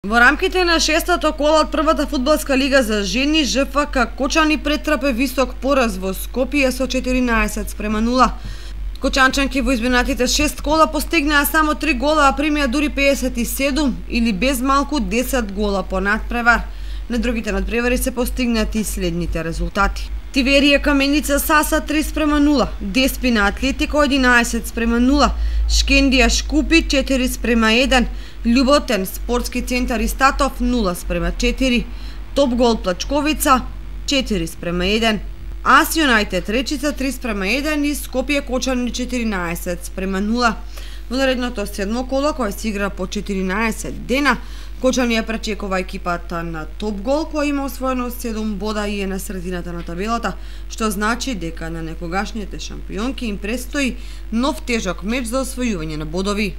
Во рамките на шестото кола од првата фудбалска лига за жени, ЖФК Кочани претрпе висок пораз во Скопје со 14:0. Кочанчанки во изминатите 6 кола постигнаа само 3 гола, а примија дури 57 или без малку 10 гола по надпревар. На другите надпревари се постигнати следните резултати. Тиверија Каменица Саса 3:0, Деспина Атлетико 11:0, Шкендија Шкупи 4:1, Љуботен Спортски центар Истатов 0:4, Топ Гол Плачковица 4:1, Ас Юнајтед Речица 3:1 и Скопје Кочани 14:0. Во наредното седмо коло, кој се игра по 14 дена, Кочани ја пречекува екипата на Топ Гол, која има освоено 7 бода и е на средината на табелата, што значи дека на некогашните шампионки им престои нов тежок меч за освојување на бодови.